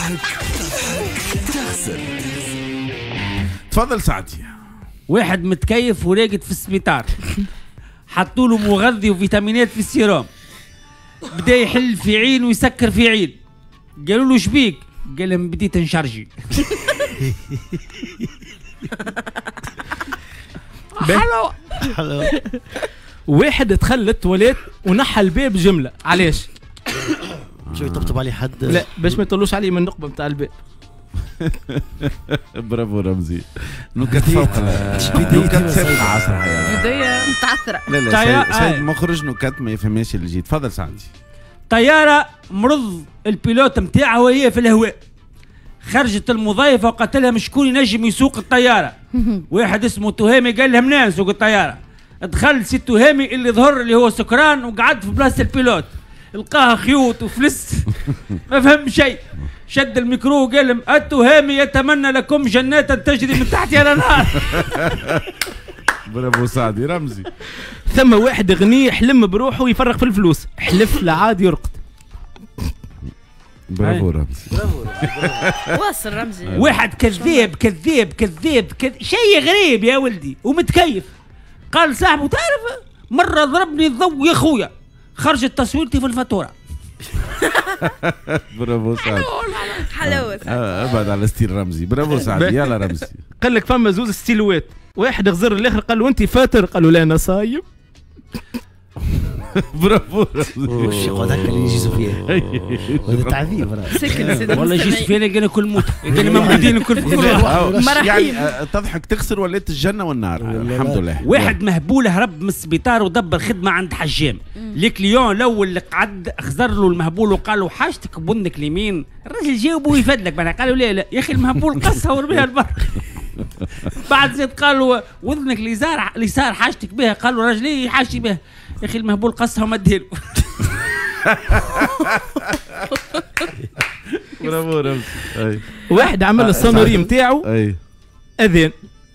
تضحك تخسر. تفضل سعدي. واحد متكيف وراقد في السبيطار، حطوا له مغذي وفيتامينات في السيروم، بدا يحل في عين ويسكر في عين. قالوا له شبيك؟ قال لهم بديت نشارجي. حلو. واحد دخل للتواليت ونحى الباب جملة، علاش؟ شو يطبطب عليه حد؟ لا باش ما يطلوش عليه من النقبه نتاع الباب. برافو رمزي. نكت فوق نكت سابقة عصرها يعني. بداية متعثرة. لا لا سيد مخرج نكت ما يفهمش اللي جيت. تفضل سعدي. طيارة مرض ال pilote نتاعها وهي في الهواء، خرجت المضيفة وقالت لها شكون ينجم يسوق الطيارة؟ واحد اسمه تهامي قال لهم لا نسوق الطيارة. دخل سي تهامي اللي ظهر اللي هو سكران وقعد في بلاصة ال pilote، لقاها خيوط وفلس ما فهم شيء. شد الميكرو وقال لهم التهامي يتمنى لكم جنات تجري من تحتها الانهار. برافو سعدي. رمزي. ثم واحد غني حلم بروحه يفرق في الفلوس، حلف لعاد يرقد. برافو رمزي. برافو. واصل رمزي. واحد كذاب كذاب كذاب شيء غريب يا ولدي ومتكيف. قال صاحبه تعرف مرة ضربني الضوء يا خويا، خرجت تصويرتي في الفاتورة. برافو سعد. حلوة. ابعد على style رمزي. برافو سعد. يلا رمزي. قال لك فما زوز ستيلوات، واحد غزر الاخر قال له انت فاتر، قال له لا انا صايم. برافو رمزي. وش يقعد هكا اللي يجي سفيان هذا تعذيب. سكن والله يجي سفيان قال كل موت، قال موجودين الكل. يعني تضحك تخسر ولات الجنة والنار. الحمد لله. واحد مهبول هرب من السبيطار ودبر خدمة عند حجام. ال client الاول اللي قعد خزر له المهبول وقال له حاجتك بنك اليمين، الراجل جاوبه ويفدلك معناها. قال له لا لا يا اخي المهبول قصها ورميها البر. بعد زيد قالوا وذنك اليسار حاجتك بها، قالوا رجلي حاجتي بها، يا اخي المهبول قصها وما ديرو. برافو رمزي. واحد عمل ال sonnerie نتاعو اذان،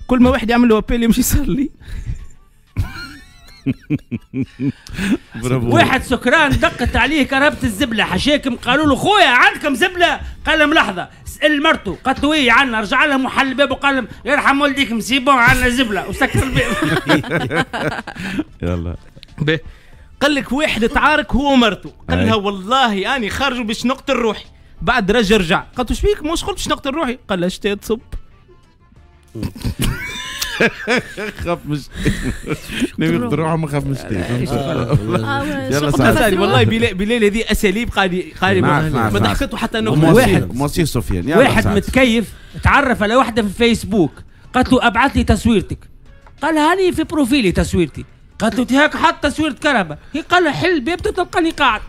كل ما واحد يعمل له appel يمشي يصلي. برافو. واحد سكران دقت عليه كرهبة الزبلة، حشاكم قالوا له خويا عندكم زبلة؟ قال لهم لحظة. سأل مرته قالت له ايه عندنا، رجع لهم وحل الباب وقال لهم يرحم والديكم c'est bon عندنا زبلة وسكر الباب. يلا. قال لك واحد تعارك هو ومرته، قال لها والله اني خارج باش نقتل روحي. بعد رجع قالت له شبيك مش قلت باش نقتل روحي؟ قال لها شتي تصب. خاف مش نبي يقتل روحه ما خاف مش. يلا سعد. والله بلال هذه اساليب قال ما ضحكته حتى نكتة. واحد موصي سفيان. واحد متكيف تعرف على واحدة في الفيسبوك، قالت له ابعث لي تصويرتك، قال هاني في profil ي تصويرتي. قالت له هاك حط تصويره كرهبه، هي قال لها حل الباب تلقاني قاعد.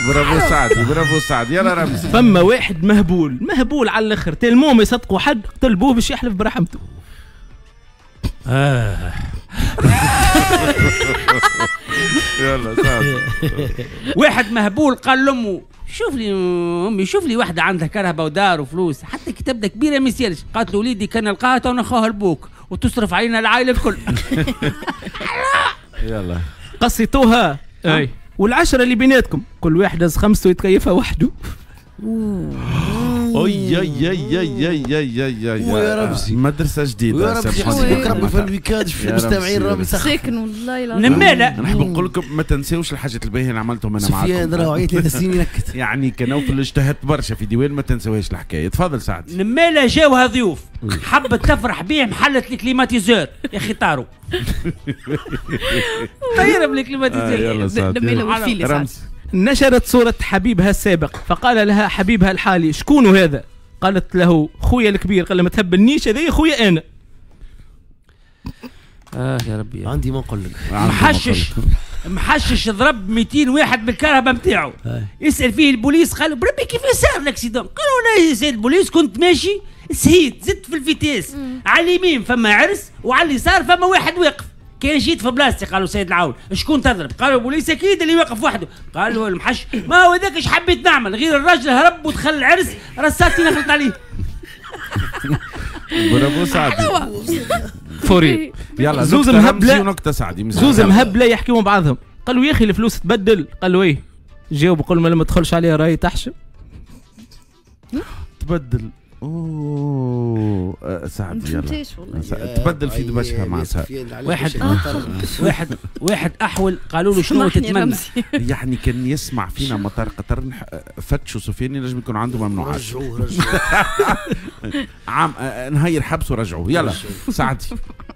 برافو سعدي. برافو سعدي. يلا رمزي. فما واحد مهبول مهبول على الاخر، tellement ما يصدقوا حد قتل بوه باش يحلف برحمته. يلا سعدي. واحد مهبول قال لامه شوف لي امي شوف لي واحدة عندها كرهبه ودار وفلوس حتى كي تبدا كبيرة ما يسالش. قالت له وليدي كان نلقاها تو نخوها لبوك وتصرف علينا العائلة الكل. يلا قصيتوها. اي والعشرة اللي بيناتكم كل واحد هز خمسته يتكيفها وحده. اي اي اي اي اي اي اي ويا رمزي مدرسه جديدة. ويا رمزي حسبك ربي في ال week-end في المستمعين راهم ساكن والله العظيم. نماله نحب نقول لكم ما تنساوش الحاجات الباهيه اللي عملتهم انا معاكم. سفيان راهو عيط 3 سنين ينكت. يعني كنوفل اجتهدت برشا في ديوان ما تنساوهاش الحكاية. تفضل سعد. نماله جاوها ضيوف حبت تفرح بيهم حلت ال climatiseur يا اخي طاروا. طيروا بال climatiseur. يلا سعد. نماله والفيل. نشرت صورة حبيبها السابق فقال لها حبيبها الحالي شكون هذا؟ قالت له خويا الكبير. قال لها ما تهبلنيش هذا خويا انا. يا ربي عندي ما نقول لك. محشش ضرب 200 واحد بالكرهبه نتاعو. يسال فيه البوليس قالوا بربي كيف صار l'accident؟ قالوا لا يا سيد البوليس كنت ماشي سهيت زدت في ال vitesse، على اليمين فما عرس وعلى اليسار فما واحد واقف. كان جيت في بلاصتي قالوا سيد العون شكون تضرب؟ قالوا البوليس اكيد اللي واقف وحده. قالوا المحش ما هو ذاك اش حبيت نعمل غير الراجل هرب ودخل العرس رصاتي نخلط عليه. برافو سعدي. فوري. يلا زوز مهبله ونكته سعدي. زوز مهبله يحكيوا مع بعضهم. قالوا يا اخي الفلوس تبدل. قالوا ايه؟ جاوبوا قالوا ما تدخلش عليها راهي تحشم. تبدل. اوه سعد يلا تبدل في دبشها مع سعد. واحد واحد احول قالوا له شنو تتمنى؟ يعني كان يسمع فينا مطار قطر فتشوا سفيان ينجم يكون عنده ممنوعات. رجعوه رجعوه عام نهير حبس ورجعوه. يلا سعد.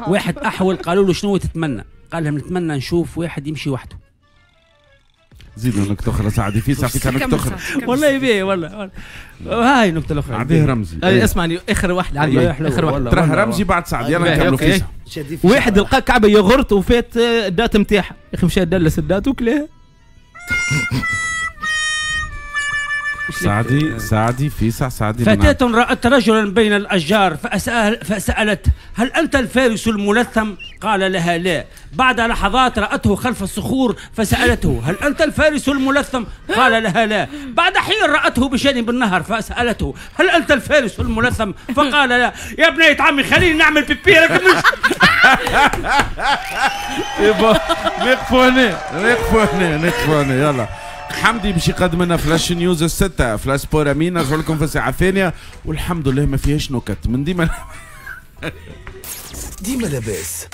واحد احول قالوا له شنو تتمنى؟ قال لهم نتمنى نشوف واحد يمشي وحده. زيدوا نكتة أخرى سعدي، في ساعة نكتة أخرى. والله بيه والله هاي نكتة الأخرى. عديه رمزي. اسمعني آخر واحدة عندي، آخر واحدة. تراه رمزي بعد سعد، يلا نكملوا فيها. واحد لقى كعبة ياغورت وفات ال date نتاعها، يا أخي مشى دلس ال date وكلاها. سعدي سعدي في ساعة سعدي. فتاة رأت رجلا بين الأشجار فسألت هل أنت الفارس الملثم؟ قال لها لا. بعد لحظات رأته خلف الصخور فسألته هل أنت الفارس الملثم؟ قال لها لا. بعد حين رأته بجانب النهر فسألته هل أنت الفارس الملثم؟ فقال لا. يا بنية عمي خليني نعمل بيبي لكن مش نقفوا هنا نقفوا هنا نقفوا هنا. يلا حمدي باش يقدم لنا flash news الستة، flash sport امين. نرجع لكم في الساعة الثانية والحمد لله ما فيهاش نكت من ديما. ديما لاباس.